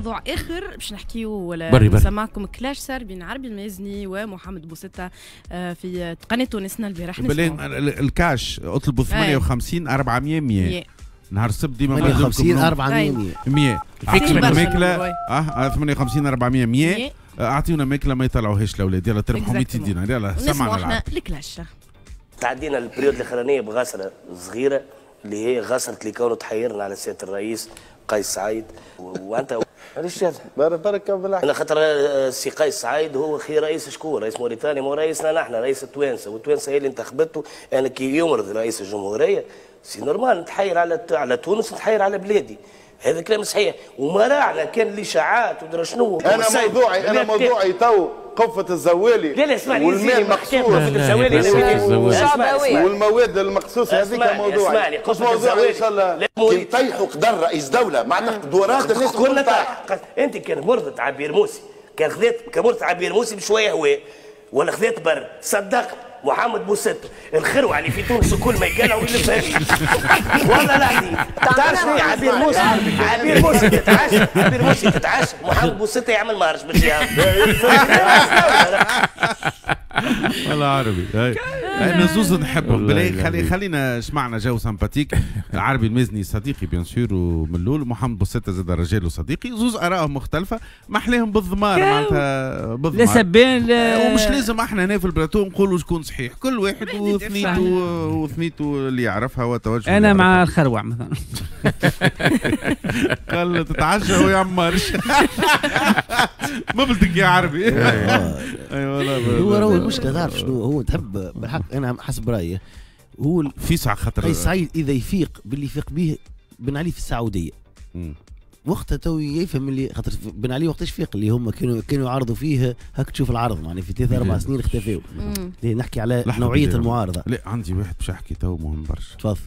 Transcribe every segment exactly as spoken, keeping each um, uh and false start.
موضوع اخر باش نحكيو ولا نسمعكم clash صار بين عربي المازني ومحمد بوستة في قناة تونسنا البارح. الكاش اطلبوا ثمانية وخمسين أربعمية مية نهار السبت ديما ثمانية وخمسين أربعمية مية اعطيونا ماكله اه ثمانية وخمسين أربعمية مية اعطيونا ماكله ما يطلعوهاش الاولاد. يلا تربحوا مئتين دينار. يلا سمعنا ال clash. تعدينا ال période الاخرانية بغسره صغيرة اللي هي غسره اللي كانوا تحيرنا على سيادة الرئيس قيس سعيد. وانت علاش هذا؟ بارك بالله. انا خاطر السي قيس سعيد هو خير رئيس شكون؟ رئيس موريتانيا، مو رئيسنا نحن، رئيس التوانسة، والتوانسه هي اللي انتخبته. انا كي يمرض رئيس الجمهورية c'est normal نتحير على على تونس، نتحير على بلادي. هذا كلام صحيح وما راعنا كان الاشاعات ودرا شنو. انا موضوعي انا موضوعي تو قفة الزوالي. لا لا اسمعني، والماء المقصوص والمواد المقصوصه هذيك موضوعي. قفة الزوالي ان شاء الله كي نطيحوا قدر رئيس دولة معناتها قدرات الناس كلها طاح. انت كان مرضت عبير موسي، كان خذيت كمرت عبير موسي بشوية هواء ولا خذيت بر، صدقت محمد بوستة الخروع اللي في تونس الكل ما يقلعوا ويلفها لي والله العظيم. تعرف شنو عبير موسى؟ عبير موسى تتعشى، عبير موسى تتعشى، محمد بوستة يعمل marche باش يعمل. والله عربي انا زوز نحبهم بلاي. خلي خلينا سمعنا جو sympathique. العربي المزني صديقي bien sûr ومن الاول، محمد بوستة زاد رجال وصديقي، زوز ارائهم مختلفة ما احلاهم بالضمار معناتها بالضمار. لا سبان لا، ومش لازم احنا هنا في البلاتو نقولوا شكون صحيح، كل واحد وثنيته وثنيته اللي يعرفها وتوجه. انا مع الخروع مثلا. قال تتعشى ويعمرش. ما بدك يا عربي. اي والله هو راهو المشكلة تعرف شنو هو تحب بالحق. انا حسب رايي هو في ساعة خاطر قيس سعيد اذا يفيق باللي يفيق به بن علي في السعودية وقتها تو يفهم اللي خاطر بن علي وقتاش فيق اللي هم كانوا كانوا يعرضوا فيه هاك تشوف العرض معناها في ثلاث اربع سنين اختفوا. نحكي على نوعية المعارضة. لا عندي واحد باش احكي تو مهم برشا. تفضل.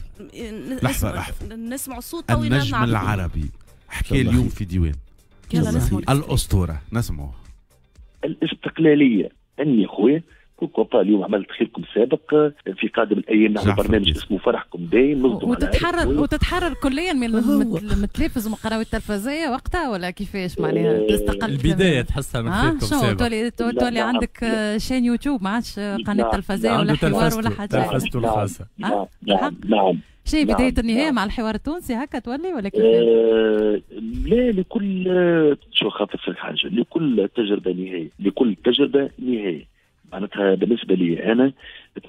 لحظة لحظة نسمعوا الصوت. النجم العربي حكى اليوم في ديوان. يلا نسمعوا الاسطورة نسمعوه. الاستقلالية اني خويا pourquoi pas اليوم عملت خيركم سابق في قادم الايام نعمل برنامج اسمه فرحكم دايم. وتتحرر وتتحرر كليا من التلفز ومن القنوات التلفزيه وقتها ولا كيفاش معناها تستقل؟ البداية تحسها من خيركم سابق. تولي تولي عندك chaîne YouTube ما عادش قناة تلفزيه ولا حوار ولا حاجة. تلفزته الخاصة. نعم نعم نعم. شيء بداية النهاية مع الحوار التونسي هكا تولي ولا كيفاش؟ آه لا لكل شو خاطر في حاجة، لكل تجربه نهاية، لكل تجربه نهاية. معناتها بالنسبة لي انا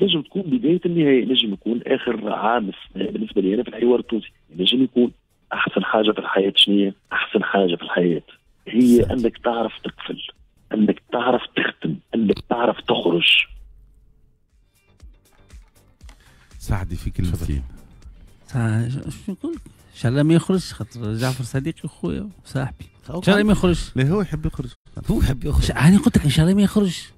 تنجم تكون بداية النهاية، نجم يكون اخر عام بالنسبة لي انا في الحوار التونسي، نجم يكون احسن حاجة في الحياة. شنو احسن حاجة في الحياة؟ هي انك تعرف تقفل، انك تعرف تختم، انك تعرف تخرج. سعدي في كلمتين. شو نقول؟ ان شاء الله ما يخرجش خاطر جعفر صديقي وخويا وصاحبي. ان شاء الله ما يخرجش. لا هو يحب يخرج. هو يحب يخرج. انا قلت لك ان شاء الله ما يخرجش.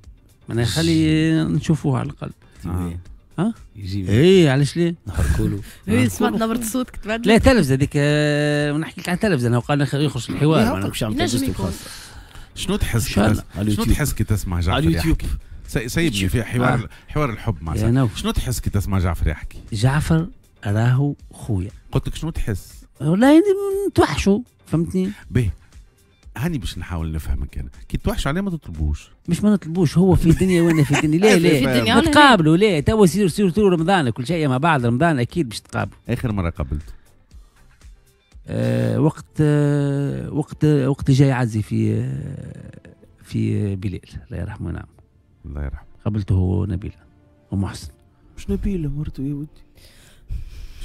معناها خلي نشوفوه على الاقل. آه. ها؟ يجي اي علاش ليه؟ نحركوا له. اي سمعت نبرة صوتك تبدلت. لا تلفزه هذيك نحكي لك على التلفزة انا قال يخرج الحوار. نجم يكون. شنو تحس؟ شنو تحس كي تسمع جعفر على اليوتيوب؟ سيبني في حوار آه. حوار الحب مع شنو تحس كي تسمع جعفر يحكي؟ جعفر راهو خويا. قلت لك شنو تحس؟ والله نتوحشوا فهمتني؟ باهي هاني باش نحاول نفهمك انا، كي توحش عليه ما تطلبوش. مش ما نطلبوش، هو في الدنيا وانا في الدنيا. ليه ليه؟ نتقابلوا ليه؟ توا surtout surtout رمضان كل شيء مع بعض، رمضان اكيد باش تقابلوا. اخر مرة قابلته؟ أه وقت أه وقت وقت جاي عزي في أه في بلال الله يرحمه. نعم الله يرحمه. قابلته هو نبيلة ومحسن. مش نبيلة مرته يا ودي.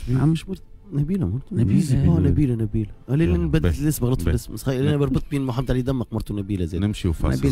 نعم مش مرته نبيلة مرته. نبيلة اه نبيلة نبيلة. انا نبدل الاسم غلطت في الاسم، انا بربطت بين محمد علي دمق مرته نبيلة زاد. نمشي وفاصل.